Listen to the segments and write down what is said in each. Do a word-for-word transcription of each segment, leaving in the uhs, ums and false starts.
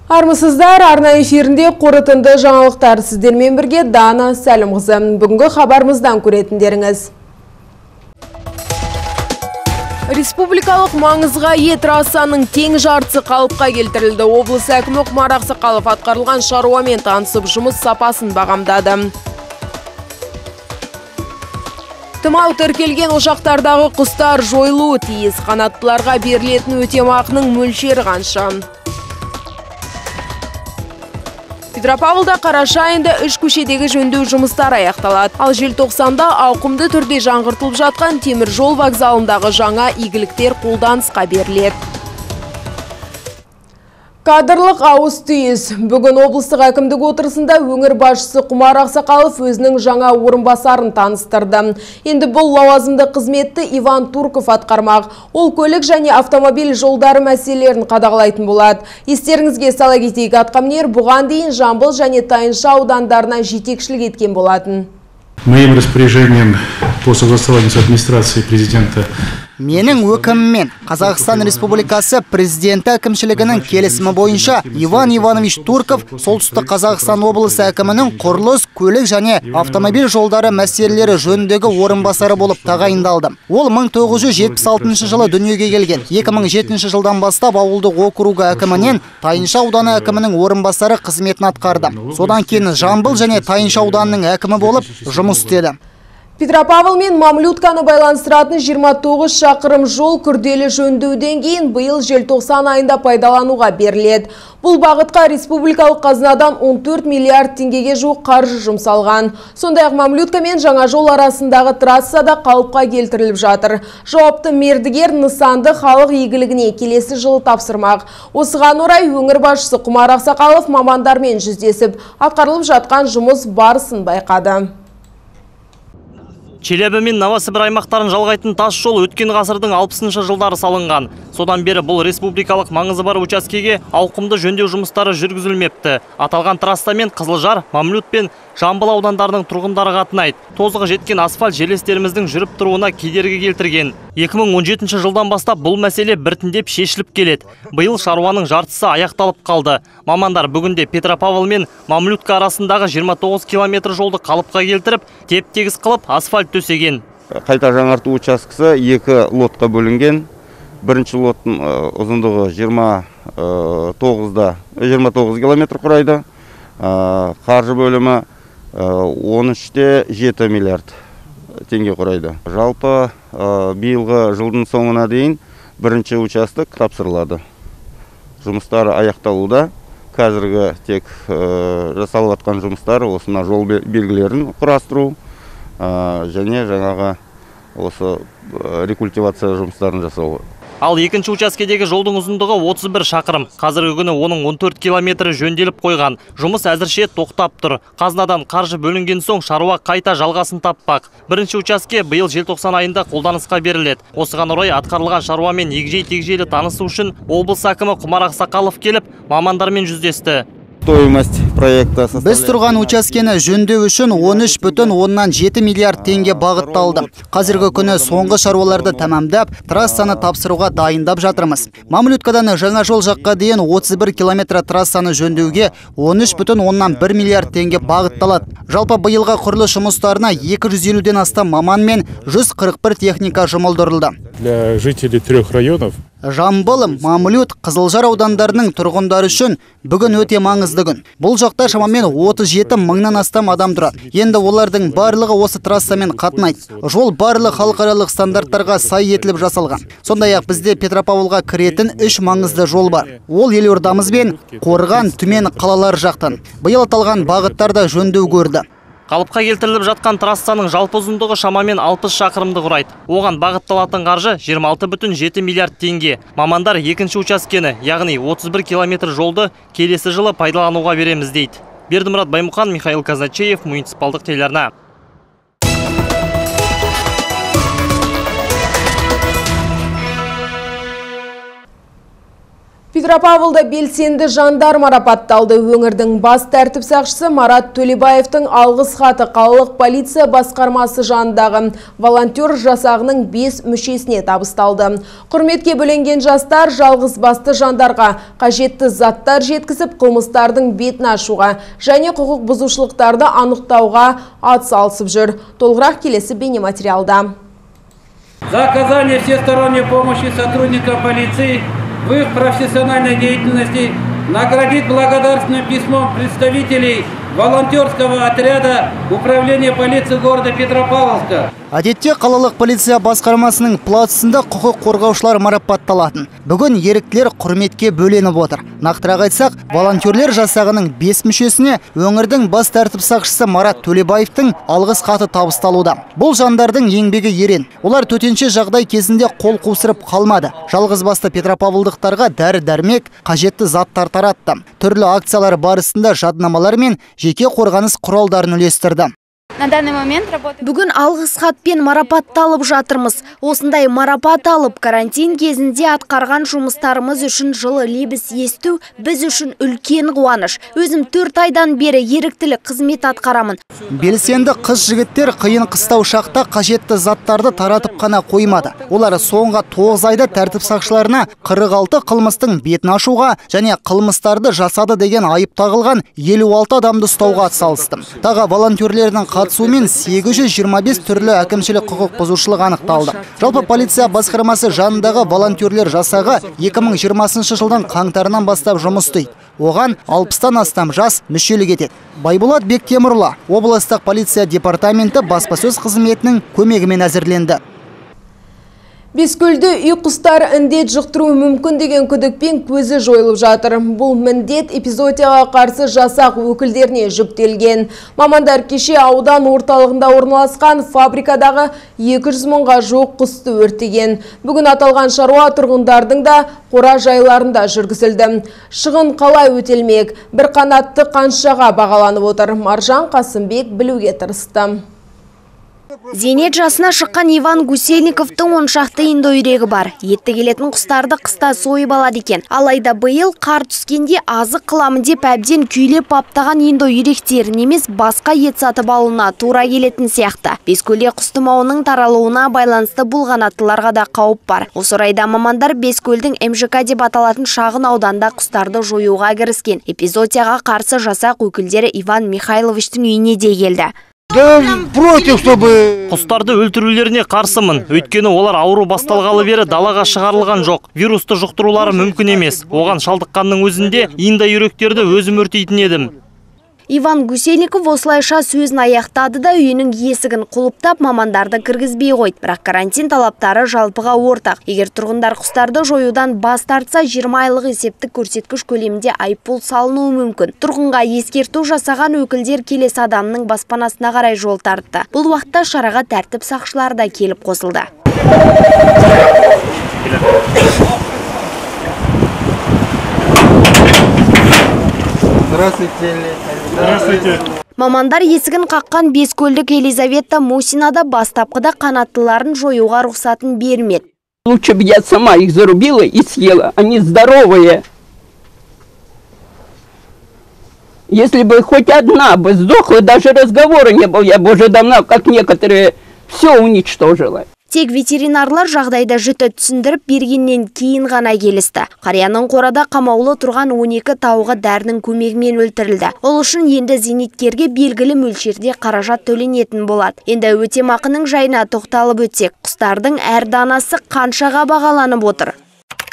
Армысыздар, арна эфирінде қорытынды жаңалықтар сіздермен бірге Дана Сәлімқызы. Бүгінгі хабарымыздан көретіндеріңіз. Республикалық маңызға ие трассаның тең жартысы қалыпқа келтірілді. Облыс әкімі Құмар Ақсақалов атқарылған шаруамен танысып, жұмыс сапасын бағамдады. Тымау тіркелген ошақтардағы құстар жойылуы тиіс. Қанаттыларға берілетін өтемақының мөлшері қанша? Петропавлда қараша айында үш көшедегі жөндеу жұмыстары аяқталады. Ал желтоқсанда ауқымды түрде жаңғыртылып жатқан темір жол вокзалындағы жаңа игіліктер қолданысқа беріледі. Кадрлық ауыс түйіс. Бүгін облыстық әкімдік отырысында өңір басшысы Құмар Ақсақалов өзінің жаңа орынбасарын таныстырды. Енді бұл лауазымды қызметті Иван Турков атқармақ. Ол көлік және автомобиль жолдары мәселелерін қадағалайтын болады. Естеріңізге сала кетейік, атқамінер бұған дейін Жамбыл және Тайынша аудандарына жетекшілік еткен болатын. Моим распоряжением по согласованию с администрацией президента Менің өкіміммен Қазақстан Республикасы президенті әкімшілігінің келісімі бойынша Иван Иванович Турков солтүстік Қазақстан облысы әкімінің құрылыс, көлік және автомобиль жолдары мәселелері жөніндегі орынбасары болып тағайындалды. Ол мың тоғыз жүз жетпіс алтыншы жылы дүниеге келген. екі мың жетінші жылдан бастап ауылдық округі әкімінен Тайынша ауданы әкімінің орынбасары қызметін атқарды. Содан кейін Жамбыл және Тайынша ауданының әкімі болып жұмыс істеді. Петропавл мен Мамлютканы байланыстыратын жиырма тоғыз шақырым жол күрделі жөндеуден кейін биыл желтоқсан айында пайдалануға беріледі. Бұл бағытқа республикалық қазынадан он төрт миллиард теңгеге жуық қаржы жұмсалған. Сондай-ақ Мамлютка мен жаңа жол арасындағы трассада қалыпқа келтіріліп жатыр. Жауапты мердігер нысанды халық игілігіне келесі жылы тапсырмақ. Осыған орай өңір басшысы Құмар Ақсақалов мамандармен жүздесіп, атқарылып жатқан жұмыс барысын байқады. Челябі мен Новосібір аймақтарын жалғайтын тас жол өткен ғасырдың алпысыншы жылдары салынған. Содан бері бұл республикалық маңызы бар учаскеге ауқымды жөндеу жұмыстары жүргізілмепті. Аталған трассамен Қызылжар, Мамлют пен Жамбыл аудандарының тұрғындары қатынайды. Тозығы жеткен асфальт желестеріміздің жүріп тұруына кедергі келтірген. екі мың он жетінші жылдан бастап бұл мәселе біртіндеп шешіліп келеді. Биыл шаруаның жартысы аяқталып қалды. Мамандар бүгінде Петропавл мен Мамлютка арасындағы жиырма тоғыз километр жолды қалыпқа келтіріп, теп-тегіс қылып асфальт төсеген. Қайта жаңарту учаскесі екі лотқа бөлінген. Бірінші лоттың ұзындығы жиырма тоғыз километр құрайды. Қаржы бөлімі он үш те жеті миллиард теңге құрайды. Жалпы биылғы жылдың соңына дейін бірінші участок тапсырылады. Жұмыстары аяқталуда. Қазіргі тек жасалып жатқан жұмыстары осына жол белгілерін құрастыру және жаңағы осы рекультивация жұмыстарын жасау. Ал екінші учаскедегі жолдың ұзындығы отыз бір шақырым. Қазіргі күні оның он төрт километрі жөнделіп қойған. Жұмыс әзірше тоқтап тұр. Қазынадан қаржы бөлінген соң шаруа қайта жалғасын таппақ. Бірінші участке биыл желтоқсан айында қолданысқа беріледі. Осыған орай атқарылған шаруамен егжей-тегжейлі танысу үшін облыс әкімі Құмар Ақсақалов келіп, мамандармен жүздесті. Біз тұрған учаскені жөндеу үшін он үш бүтін оннан жеті миллиард теңге бағытталды. Қазіргі күні соңғы шаруаларды тамамдап, трассаны тапсыруға дайындап жатырмыз. Мамлюткадан жаңа жол жаққа дейін отыз бір километр трассаны жөндеуге он үш бүтін оннан бір миллиард теңге бағытталады. Жалпы биылға құрылыс жұмыстарына екі жүз елуден астам маман мен жүз қырық бір техника жұмылдырылды. Для жителей трех районов Жамбыл, Мамлют, Қызылжар аудандарының тұрғындары үшін бүгін өте маңызды күн. Бұл жақта шамамен отыз жеті мыңнан астам адам тұрады. Енді олардың барлығы осы трассамен қатынайды. Жол барлық халықаралық стандарттарға сай етіліп жасалған. Сондай-ақ бізде Петропавлға кіретін үш маңызды жол бар. Ол елордамыз бен Қорған, Түмен қалалар жақтан. Биыл аталған бағыттарда жөндеу көрді. Қалыпқа келтіріліп жатқан трассаның жалпы ұзындығы шамамен алпыс шақырымды құрайды. Оған бағытталатын қаржы жиырма алты бүтін жеті миллиард теңге. Мамандар екінші учаскені, яғни отыз бір километр жолды келесі жылы пайдалануға береміз дейді. Бердімұрат Баймұхан, Михаил Казначеев, муниципалдық телеарна. Петропавлда белсенді жандар марапатталды. Өңірдің бас тәртіп сақшысы Марат Төлебаевтың алғыс хаты қалалық полиция басқармасы жанындағы волонтер жасағының бес мүшесіне табысталды. Құрметке бөленген жастар жалғыз басты жандарға қажетті заттар жеткізіп, қылмыстардың бетін ашуға және құқық бұзушылықтарды анықтауға атсалысып жүр. Толығырақ келесі бейнематериалда. За оказание всесторонней помощи сотрудникам полиции в их профессиональной деятельности наградить благодарственным письмом представителей волонтерского отряда Управления полиции города Петропавловска. Әдетте қалалық полиция басқармасының плацында құқық қорғаушылар марапатталатын. Бүгін еріктілер құрметке бөленіп отыр. Нақтырақ айтсақ, волонтерлер жасағының бес мүшесіне өңірдің бас тәртіп сақшысы Марат Төлебаевтың алғыс хаты табысталуда. Бұл жандардың еңбегі ерен. Олар төтенше жағдай кезінде қол қусырып қалмады. Жалғыз басты петропавлдықтарға дәрі-дәрмек, қажетті заттар таратты. Түрлі акциялар барысында жаднамалар мен жеке қорғаныс құралдарын үлестірді. На данный момент работаем. Бүгін алғыс хатпен марапатталып жатырмыз. Осындай марапат алып, карантин кезінде атқарған жұмыстарымыз үшін жылы лебіз есту біз үшін үлкен қуаныш. Өзім төрт айдан бері еріктілік қызмет атқарамын. Белсенді қыз жігіттер қиын қыстау шақта қажетті заттарды таратып қана қоймады. Олар соңғы тоғыз айда тәртіп сақшыларына қырық алты қылмыстың бетін ашуға және қылмыстарды жасады деген айып тағылған елу алты адамды ұстауға атсалысты. Тағы волонтерлердің қатысуымен сегіз жүз жиырма бес түрлі әкімшілік құқық бұзушылық анықталды. Жалпы полиция басқармасы жанындағы волонтерлер жасағы екі мың жиырмасыншы жылдың қаңтарынан бастап жұмыс істейді. Оған алпыстан астам жас мүшелік етеді. Байболат Бектемірлі, облыстық полиция департаменті баспасөз қызметінің көмегімен әзірленді. Бескөлді үй құстар індет жұқтыру мүмкін деген күдікпен көзі жойылып жатыр. Бұл міндет эпизоотияға қарсы жасақ өкілдеріне жүктелген. Мамандар кеше аудан орталығында орналасқан фабрикадағы екі жүз мыңға жуық құсты өртеген. Бүгін аталған шаруа тұрғындардың да қора жайларында жүргізілді. Шығын қалай өтелмек? Bir қанатты қаншаға бағаланып отыр? Маржан Қасымбек білуге тырысты. Зейнет жасына шыққан Иван Гусельниковтың он шақты индоүйрегі бар. Етті келетін құстарды қыста сойып алады екен. Алайда биыл қар түскенде азық қыламын деп әбден күйлеп баптаған индоүйректерін емес басқа ет сатып алуына тура келетін сияқты. Бескөлде құс тұмауының таралуына байланысты бұлғанаттыларға да қауіп бар. Осы орайда мамандар Бескөлдің эм жэ ка деп аталатын шағын ауданда құстарды жоюға кіріскен. Эпизоотияға қарсы жасақ өкілдері Иван Михайловичтің үйіне де келді. Құстарды өлтірулеріне қарсымын. Өйткені олар ауру басталғалы бері далаға шығарылған жоқ. Вирусты жұқтырулары мүмкін емес. Оған шалдыққанның өзінде индоүйректерді өзім өртейтін едім. Иван Гусельников осылайша сөзін аяқтады да үйінің есігін құлыптап мамандарды кіргізбей қойды. Бірақ карантин талаптары жалпыға ортақ. Егер тұрғындар құстарды жоюдан бас тартса, жиырма айлық есептік көрсеткіш көлемінде айыппұл салынуы мүмкін. Тұрғынға ескерту жасаған өкілдер келесі адамның баспанасына қарай жол тартты. Бұл уақытта шараға тәртіп сақшылары да келіп қосылды. Здравствуйте. Мамандар есігін қаққан Бескөлдік Елизавета Мусинада бастапқыда қанаттыларын жоюға рұқсатын бермеді. Лучше бы я сама их зарубила и съела. Они здоровые. Если бы хоть одна бы сдохла, даже разговора не было, я бы уже давно, как некоторые, все уничтожила. Тек ветеринарлар жағдайда жіті түсіндіріп бергеннен кейін ғана келісті. Қарияның қорада қамаулы тұрған он екі тауығы дәрінің көмегімен өлтірілді. Ол үшін енді зейнеткерге белгілі мөлшерде қаражат төленетін болады. Енді өтемақының жайына тоқталып өтсек, құстардың әр данасы қаншаға бағаланып отыр?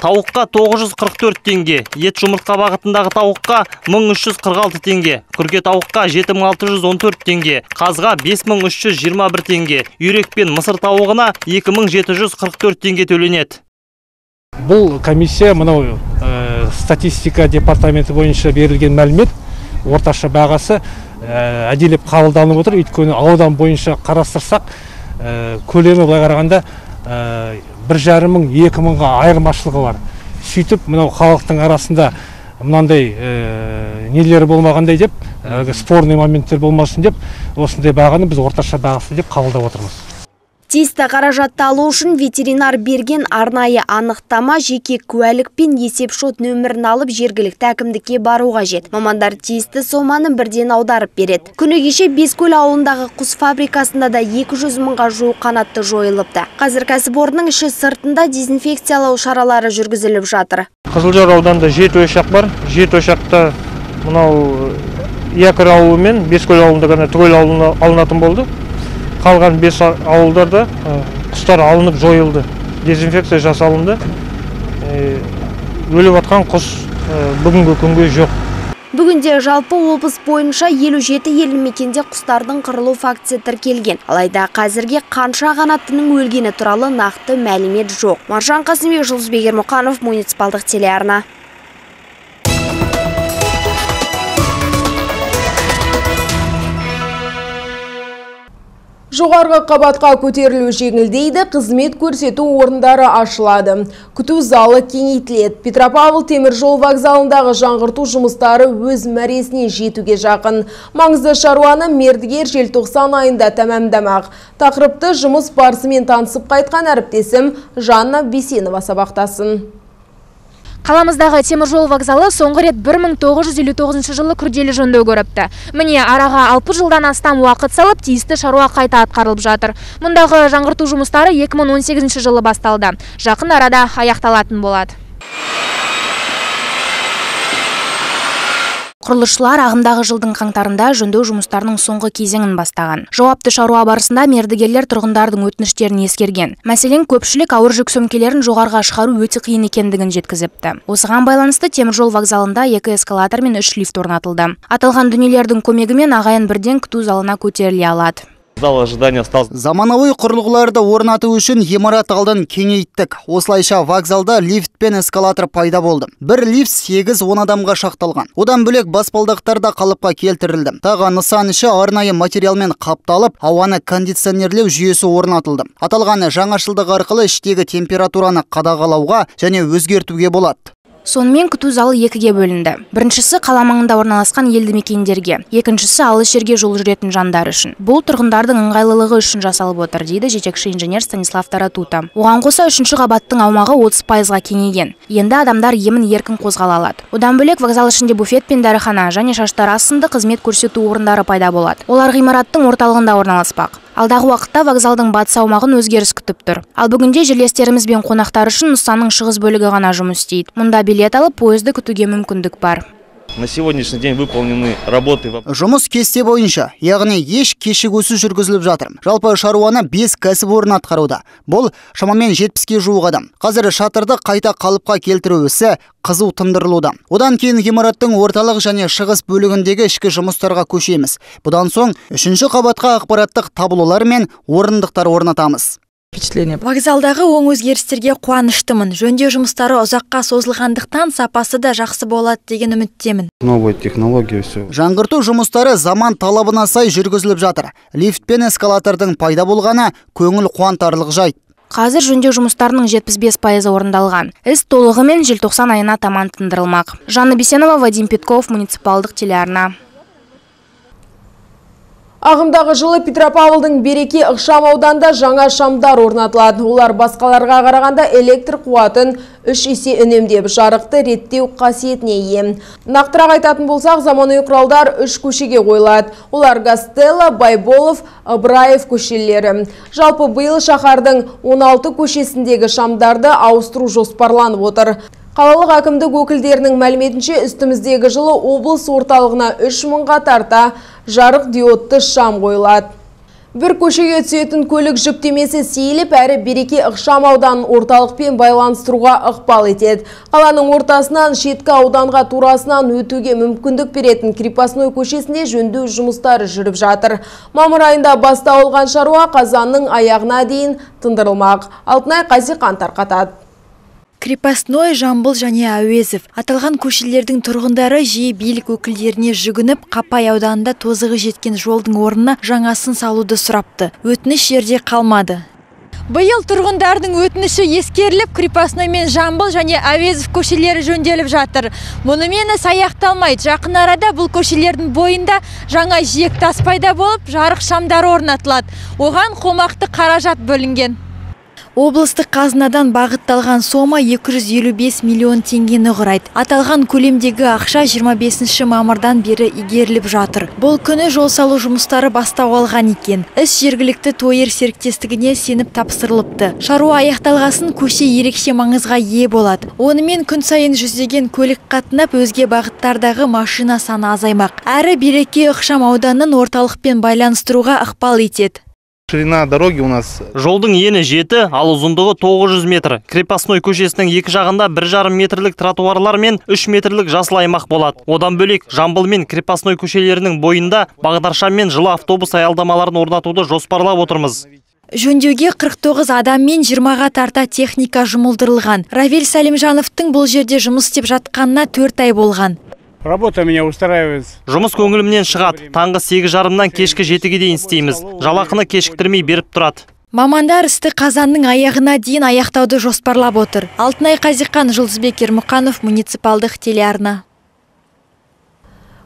Тауыққа тоғыз жүз қырық төрт теңге, ет жұмыртқа бағытындағы тауыққа мың үш жүз қырық алты теңге, күрке тауыққа жеті мың алты жүз он төрт теңге, қазға бес мың үш жүз жиырма бір теңге, үйрек пен мысыр тауығына екі мың жеті жүз қырық төрт теңге төленеді. Бұл комиссия мынау ә, статистика департаменті бойынша берілген мәлімет орташа бағасы ә, әдейілеп қабылданып отыр. Өйткені аудан бойынша қарастырсақ, ә, көлемі былай қарағанда ә, бір жарым мың екі мыңға айырмашылығы бар. Сөйтіп мынау халықтың арасында мынандай ә, нелері болмағандай деп, ә, спорный моменттер болмасын деп, осындай бағаны біз орташа бағасы деп қабылдап отырмыз. Тиісті қаражатты алу үшін ветеринар берген арнайы анықтама, жеке куәлік пен есепшот нөмірін алып жергілікті әкімдікке бару қажет. Мамандар тиісті соманы бірден аударып береді. Күні кеше Бескөл ауылындағы құс фабрикасында да екі жүз мыңға жуық қанатты жойылыпты. Қазір кәсіпорынның іші сыртында дезинфекциялау шаралары жүргізіліп жатыр. Қызылжар ауданында жеті ошақ бар. жеті ошақта мынау Якыр ауылы мен Бескөл ауылында ғана түгел алынатын болды. Қалған бес ауылдарда құстар алынып жойылды. Дезинфекция жасалынды. Өліп атқан құс бүгінгі күнге жоқ. Бүгінде жалпы облыс бойынша елу жеті елді мекенде құстардың қырылу фактісі тіркелген. Алайда қазірге қанша қанаттының өлгені туралы нақты мәлімет жоқ. Маржан Қасымбек, Жұлдызбек Ермұқанов, муниципалдық телеарна. Жоғарғы қабатқа көтерілу жеңілдейді, қызмет көрсету орындары ашылады. Күту залы кеңейтіледі. Петропавл теміржол вокзалындағы жаңғырту жұмыстары өз мәресіне жетуге жақын. Маңызды шаруаны мердігер желтоқсан айында тәмамдамақ. Тақырыпты жұмыс барысымен танысып қайтқан әріптесім Жанна Бесенова сабақтасын. Қаламыздағы теміржол вокзалы соңғы рет бір мың тоғыз жүз елу тоғызыншы жылы күрделі жөндеу көріпті. Міне араға алпыс жылдан астам уақыт салып, тиісті шаруа қайта атқарылып жатыр. Мұндағы жаңғырту жұмыстары екі мың он сегізінші жылы басталды. Жақын арада аяқталатын болады. Құрылысшылар ағымдағы жылдың қаңтарында жөндеу жұмыстарының соңғы кезеңін бастаған. Жауапты шаруа барысында мердігерлер тұрғындардың өтініштерін ескерген. Мәселен, көпшілік ауыр жүк сөмкелерін жоғарыға шығару өте қиын екендігін жеткізіпті. Осыған байланысты теміржол вокзалында екі эскалатор мен үш лифт орнатылды. Аталған дүниелердің көмегімен ағайын бірден күту залына көтеріле алады. Заманауи құрылғыларды орнату үшін ғимарат алдын кеңейттік. Осылайша вокзалда лифт пен эскалатор пайда болды. Бір лифт сегіз он адамға шақталған. Одан бөлек баспалдақтар да қалыпқа келтірілді. Тағы нысан іші арнайы материалмен қапталып, ауаны кондиционерлеу жүйесі орнатылды. Аталған жаңашылдық арқылы іштегі температураны қадағалауға және өзгертуге болады. Сонымен күту залы екіге бөлінді. Біріншісі қала маңында орналасқан елді мекендерге, екіншісі алыс жерге жол жүретін жандар үшін. Бұл тұрғындардың ыңғайлылығы үшін жасалып отыр, дейді жетекші инженер Станислав Таратута. Оған қоса үшінші қабаттың аумағы отыз пайызға кеңейген. Енді адамдар емін еркін қозғала алады. Одан бөлек вокзал ішінде буфет пен дәріхана және шаштараз сынды қызмет көрсету орындары пайда болады. Олар ғимараттың орталығында орналаспақ. Алдағы уақытта вокзалдың батыс аумағын өзгеріс күтіп тұр. Ал бүгінде жерлестеріміз бен қонақтар үшін нысанның шығыс бөлігі ғана жұмыс істейді. Мұнда билет алып, пойызды күтуге мүмкіндік бар. На сегодняшний день выполнены работы. Жұмыс кесте бойынша, яғни еш кешігусіз жүргізіліп жатыр. Жалпы шаруаны бес кәсіпорын атқаруда. Бұл шамамен жетпіске жуық адам. Қазір шатырды қайта қалыпқа келтіру ісі қызу тындырылуда. Одан кейін ғимараттың орталық және шығыс бөлігіндегі ішкі жұмыстарға көшеміз. Бұдан соң үшінші қабатқа ақпараттық таблолар мен орындықтар орнатамыз. Вокзалдағы оң өзгерістерге қуаныштымын. Жөндеу жұмыстары ұзаққа созылғандықтан сапасы да жақсы болады деген үміттемін. Новая технология все. Жаңғырту жұмыстары заман талабына сай жүргізіліп жатыр. Лифт пен эскалатордың пайда болғаны көңіл қуантарлық жайт. Қазір жөндеу жұмыстарының жетпіс бес пайызы орындалған. Іс толығымен желтоқсан айына таман тындырылмақ. Жанна Бесенова, Вадим Петков, муниципалдық телеарна. Ағымдағы жылы Петропавлдың Береке ықшам ауданда жаңа шамдар орнатылады. Олар басқаларға қарағанда электр қуатын үш есе үнемдеп, жарықты реттеу қасиетіне ие. Нақтырақ айтатын болсақ, заманауи құралдар үш көшеге қойылады. Олар Гастелло, Байболов, Ыбыраев көшелері. Жалпы биыл шаһардың он алты көшесіндегі шамдарды ауыстыру жоспарланып отыр. Қалалық әкімдік өкілдерінің мәліметінше үстіміздегі жылы облыс орталығына үш мыңға тарта жарық диодты шам қойылады. Бір көшеге түсетін көлік жүктемесі сейіліп, әрі Береке ықшам ауданын орталықпен байланыстыруға ықпал етеді. Қаланың ортасынан шеткі ауданға турасынан өтуге мүмкіндік беретін Крепостной көшесінде жөндеу жұмыстары жүріп жатыр. Мамыр айында басталған шаруа қазанның аяғына дейін тындырылмақ. Алтынай Қазиқан тарқатады. Крепостной, Жамбыл және Әуезов. Аталған көшелердің тұрғындары жиі билік өкілдеріне жүгініп, Қапай ауданында тозығы жеткен жолдың орнына жаңасын салуды сұрапты. Өтініш жерде қалмады. Биыл тұрғындардың өтініші ескеріліп, Крепостной мен Жамбыл және Әуезов көшелері жөнделіп жатыр. Мұнымен іс аяқталмайды. Жақын арада бұл көшелердің бойында жаңа жиек тас пайда болып, жарық шамдары орнатылады. Оған қомақты қаражат бөлінген. Облыстық қазынадан бағытталған сома екі жүз елу бес миллион теңгені құрайды. Аталған көлемдегі ақша жиырма бесінші мамырдан бері игеріліп жатыр. Бұл күні жол салу жұмыстары бастау алған екен. Іс жергілікті тойыр серіктестігіне сеніп тапсырылыпты. Шаруа аяқталғасын көше ерекше маңызға ие болады. Онымен күн сайын жүздеген көлік қатынап, өзге бағыттардағы машина саны азаймақ. Әрі Береке ықшам ауданын орталықпен байланыстыруға ықпал етеді. Ширина дороги у нас. Жолдың ені жеті, ал ұзындығы тоғыз жүз метр. Крепостной көшесінің екі жағында бір жарым метрлік тротуарлар мен үш метрлік жасыл аймақ болады. Одан бөлек Жамбыл мен Крепостной көшелерінің бойында бағдаршам мен жылы автобус аялдамаларын орнатуды жоспарлап отырмыз. Жөндеуге қырық тоғыз адам мен жиырмаға тарта техника жұмылдырылған. Равиль Салимжановтың бұл жерде жұмыс істеп жатқанына төрт ай болған. Работа меня устраивает. Жұмыс көңілімнен шығады. Таңғы сегіз жарымнан кешкі жетіге дейін істейміз. Жалақыны кешіктірмей беріп тұрады. Мамандар істі қазанның аяғына дейін аяқтауды жоспарлап отыр. Алтынай Қазиқан, Жұлдызбек Ермұқанов, муниципалдық телеарна.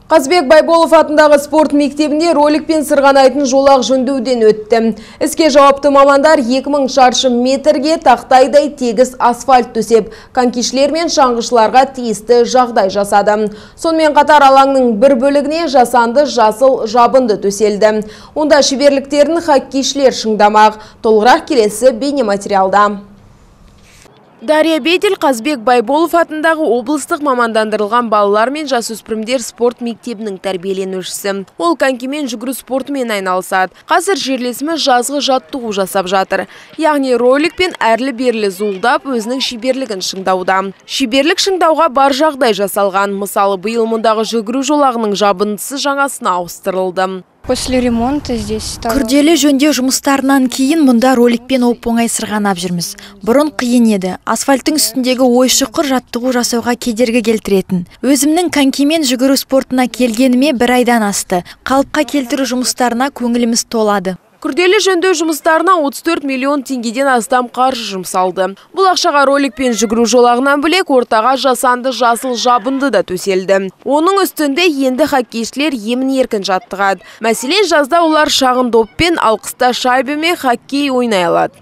Қазбек Байболов атындағы спорт мектебінде ролик пен сырғанайтын жолақ жөндеуден өтті. Іске жауапты мамандар екі мың шаршы метрге тақтайдай тегіс асфальт төсеп, конькишілер мен шаңғышыларға тиісті жағдай жасады. Сонымен қатар алаңның бір бөлігіне жасанды жасыл жабынды төселді. Онда шеберліктерін хоккейшілер шыңдамақ. Толығырақ келесі бейнематериалда. Дарья Бедель Қазбек Байболов атындағы облыстық мамандандырылған балалар мен жасөспірімдер спорт мектебінің тәрбиеленушісі. Ол конькимен жүгіру спортымен айналысады. Қазір жерлесіміз жазғы жаттығу жасап жатыр. Яғни ролик пен әрлі-берлі зуылдап өзінің шеберлігін шыңдауда. Шеберлік шыңдауға бар жағдай жасалған. Мысалы, биыл мұндағы жүгіру жолағының жабындысы жаңасына ауыстырылды. После ремонта здесь стало... Күрделі жөндеу жұмыстарынан кейін мұнда роликпен оп-оңай сырғанап жүрміз. Бұрын қиын еді. Асфальттың үстіндегі ой-шұқыр жаттығу жасауға кедергі келтіретін. Өзімнің конькимен жүгіру спортына келгеніме бір айдан асты. Қалыпқа келтіру жұмыстарына көңіліміз толады. Күрделі жөндеу жұмыстарына отыз төрт миллион теңгеден астам қаржы жұмсалды. Бұл ақшаға ролик пен жүгіру жолағынан бөлек ортаға жасанды жасыл жабынды да төселді. Оның үстінде енді хоккейшілер емін еркін жаттығады. Мәселен, жазда олар шағын доппен, ал қыста шайбемен хоккей ойнай алады.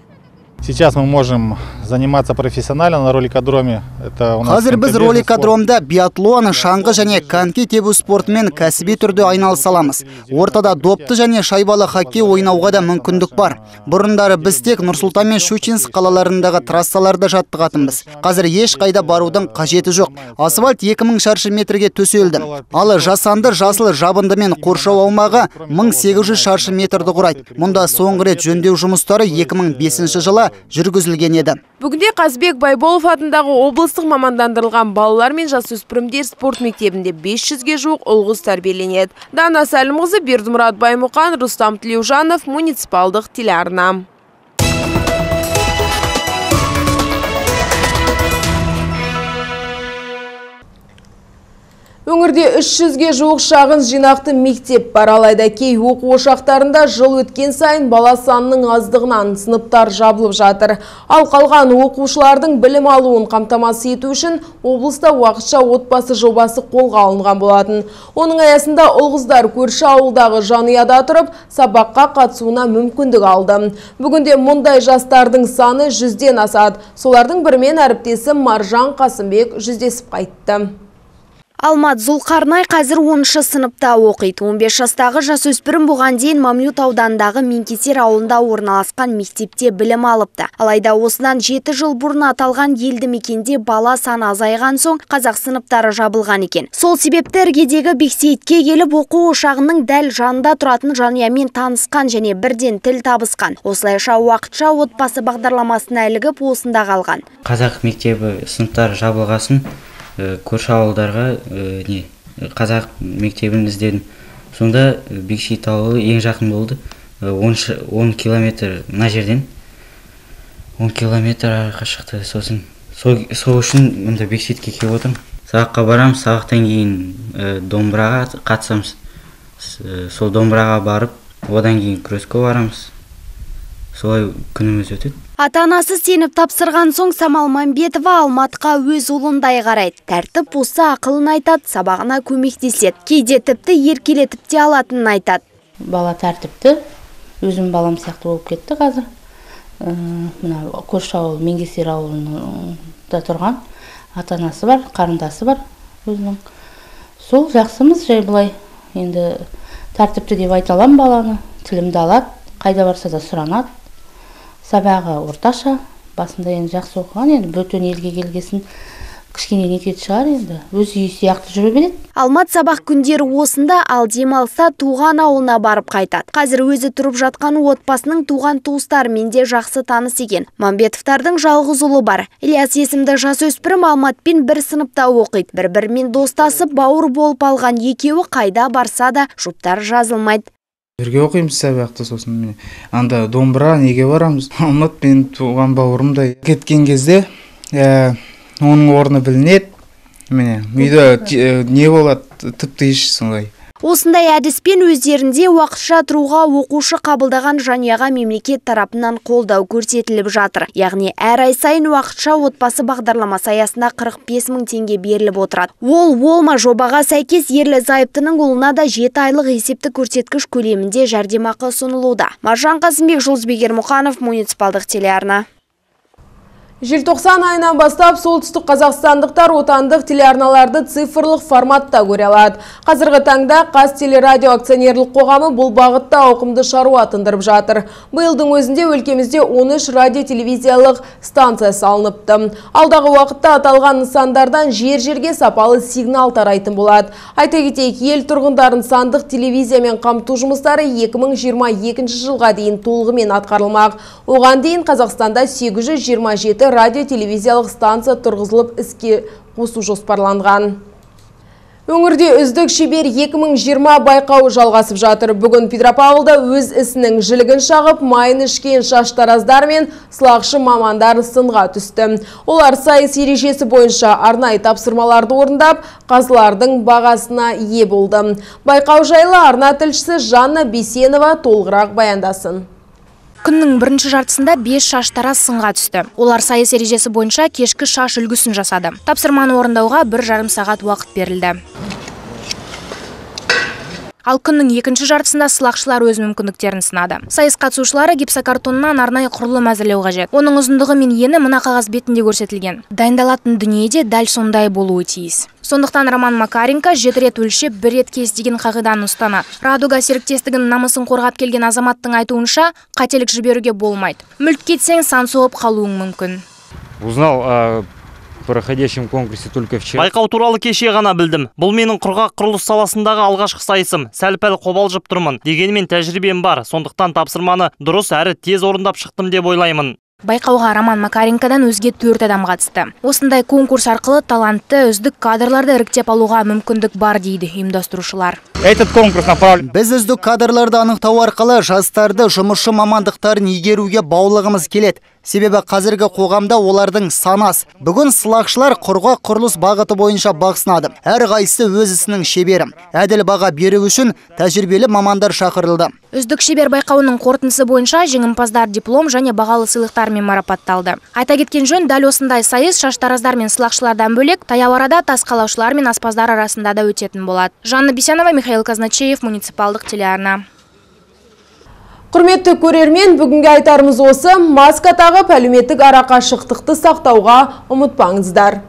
Сейчас мы можем заниматься профессионально на роликодроме. Қазір біз роликодромда биатлон, шаңғы және коньки тебу спортымен кәсіби түрде айналыса аламыз. Ортада допты және шайбалы хоккей ойнауға да мүмкіндік бар. Бұрындары біз тек Нұр-Сұлтан мен Щучинск қалаларындағы трассаларда жаттығатынбыз. Қазір еш қайда барудың қажеті жоқ. Асфальт екі мың шаршы метрге төселді. Ал жасанды жасыл жабындымен қоршау аумағы мың сегіз жүз шаршы метрді құрайды. Мұнда соңғы рет жөндеу жұмыстары екі мың бесінші жылы жүргізілген еді. Бүгінде Қазбек Байболов атындағы облыстық мамандандырылған балалар мен жасөспірімдер спорт мектебінде бес жүзге жуық ұл-қыз тәрбиеленеді. Дана Сәлімқызы, Бердімұрат Баймұқан, Рустам Тілеужанов, муниципалдық телеарна. Өңірде үш жүзге жуық шағын жинақты мектеп бар, алайда кей оқу ошақтарында жыл өткен сайын бала санының аздығынан сыныптар жабылып жатыр. Ал қалған оқушылардың білім алуын қамтамасыз ету үшін облыста уақытша отбасы жобасы қолға алынған болатын. Оның аясында ұл-қыздар көрші ауылдағы жанұяда тұрып, сабаққа қатысуына мүмкіндік алды. Бүгінде мұндай жастардың саны жүзден асады. Солардың бірімен әріптесім Маржан Қасымбек жүздесіп қайтты. Алмат Зұлқарнай қазір оныншы сыныпта оқиды. он бес жастағы жасөспірім бұған дейін Мамлют аудандағы Менкетер ауылында орналасқан мектепте білім алыпты. Алайда осыдан жеті жыл бұрын аталған елді мекенде бала саны азайған соң қазақ сыныптары жабылған екен. Сол себепті іргедегі Бексейітке келіп оқу ошағының дәл жанында тұратын жанұямен танысқан және бірден тіл табысқан. Осылайша уақытша отбасы бағдарламасына ілігіп осында қалған. Қазақ мектебі сыныптары жабылғасын көрші ауылдарға не қазақ мектебін іздедім. Сонда Бексейіт ауылы ең жақын болды. он километр мына жерден он километр қашықты. Сосын сол үшін мұнда Бексейітке келіп отырмын. Сабаққа барамыз, сабақтан кейін домбыраға қатысамыз. Сол домбыраға барып, одан кейін күреске барамыз. Солай күніміз өтеді. Ата-анасы сеніп тапсырған соң Самал Мамбетова Алматқа өз ұлындай қарайды. Тәртіп болса ақылын айтады, сабағына көмектеседі. Кейде тіпті еркелетіп те алатынын айтады. Бала тәртіпті, өзім балам сияқты болып кетті қазір. Мына көрші ауыл, Меңгесер ауылында тұрған ата-анасы бар, қарындасы бар өзінің. Сол жақсымыз жай былай. Енді тәртіпті деп айта аламын баланы, тілімді алады, қайда барса да сұранады. Сабағы орташа, басында енді жақсы оқыған, енді бөтен елге келгесін кішкене нетеді шығар енді, өз үйі сияқты жүре береді. Алмат сабақ күндері осында, ал демалса туған ауылына барып қайтады. Қазір өзі тұрып жатқан отбасының туған туыстарымен де жақсы таныс екен. Мамбетовтардың жалғыз ұлы бар. Ильяс есімді жасөспірім Алматпен бір сыныпта оқиды. Бір-бірімен достасып, бауыр болып алған екеуі қайда барса да жұптары жазылмайды. Бірге оқимыз сабақты, сосын міне анда домбыра неге барамыз. Алмат мен туған бауырымдай. Кеткен кезде оның орны білінеді. Міне үйде не болады, тіпті еш сондай. Осындай әдіспен өздерінде уақытша тұруға оқушы қабылдаған жанұяға мемлекет тарапынан қолдау көрсетіліп жатыр. Яғни әр ай сайын уақытша отбасы бағдарламасы аясында қырық бес мың теңге беріліп отырады. Ол олма жобаға сәйкес ерлі зайыптының ұлына да жеті айлық есепті көрсеткіш көлемінде жәрдемақы ұсынылуда. Маржан Қасымбек, Жұлдызбек Ермұханов, муниципалдық телеарна. Желтоқсан айынан бастап солтүстік қазақстандықтар отандық телеарналарды цифрлық форматта көре алады. Қазіргі таңда Қазтелерадио акционерлік қоғамы бұл бағытта ауқымды шаруа тындырып жатыр. Биылдың өзінде өлкемізде он үш радио-телевизиялық станция салыныпты. Алдағы уақытта аталған нысандардан жер-жерге сапалы сигнал тарайтын болады. Айта кетейік, ел тұрғындарын сандық телевизиямен қамту жұмыстары екі мың жиырма екінші жылға дейін толығымен атқарылмақ. Оған дейін Қазақстанда сегіз жүз жиырма жеті радио-телевизиялық станция тұрғызылып іске қосу жоспарланған. Өңірде үздік шебер екі мың жиырма байқауы жалғасып жатыр. Бүгін Петропавлда өз ісінің жілігін шағып, майын ішкен шаштараздар мен сылақшы мамандар сынға түсті. Олар сайыс ережесі бойынша арнайы тапсырмаларды орындап, қазылардың бағасына ие болды. Байқау жайлы арна тілшісі Жанна Бейсенова толығырақ баяндасын. Күннің бірінші жартысында бес шаштараз сынға түсті. Олар сайыс ережесі бойынша кешкі шаш үлгісін жасады. Тапсырманы орындауға бір жарым сағат уақыт берілді. Ал күннің екінші жартысында сылақшылар өз мүмкіндіктерін сынады. Сайыс қатысушылары гипсокартоннан арнайы құрылым әзірлеу қажет. Оның ұзындығы мен ені мына қағаз бетінде көрсетілген. Дайындалатын дүниеде дәл сондай болуы тиіс. Сондықтан Роман Макаренко жеті рет өлшеп, бір рет кес деген қағиданы ұстанады. Радуга серіктестігінің намысын қорғап келген азаматтың айтуынша, қателік жіберуге болмайды. Мүлт кетсең, сан соғып қалуың мүмкін. Узнал о проходящем конкурсе только вчера. Байқау туралы кеше ғана білдім. Бұл менің құрғақ құрылыс саласындағы алғашқы сайысым. Сәл-пәл қобалжып тұрмын. Дегенмен тәжірибем бар. Сондықтан тапсырманы дұрыс әрі тез орындап шықтым деп ойлаймын. Байқауға Роман Макаренкодан өзге төрт адам қатысты. Осындай конкурс арқылы талантты үздік кадрларды іріктеп алуға мүмкіндік бар дейді ұйымдастырушылар. Этот конкурс направлен. Біз үздік кадрларды анықтау арқылы жастарды жұмысшы мамандықтарын игеруге баулығымыз келеді. Себебі қазіргі қоғамда олардың санас. Бүгін сылақшылар құрғақ құрылыс бағыты бойынша бақ сынады. Әр қайсысы өз ісінің шебері. Әділ баға беру үшін тәжірибелі мамандар шақырылды. Үздік шебер байқауының қорытындысы бойынша жеңімпаздар диплом және бағалы сыйлықтармен марапатталды. Айта кеткен жөн, дәл осындай сайыс шаштараздар мен сылақшылардан бөлек таяу арада тас қалаушылар мен аспаздар арасында да өтетін болады. Жанна Бейсенова, Михаил Казначеев, муниципалдық телеарна. Құрметті көрермен, бүгінгі айтарымыз осы. Маска тағып әлеуметтік арақашықтықты сақтауға ұмытпаңыздар.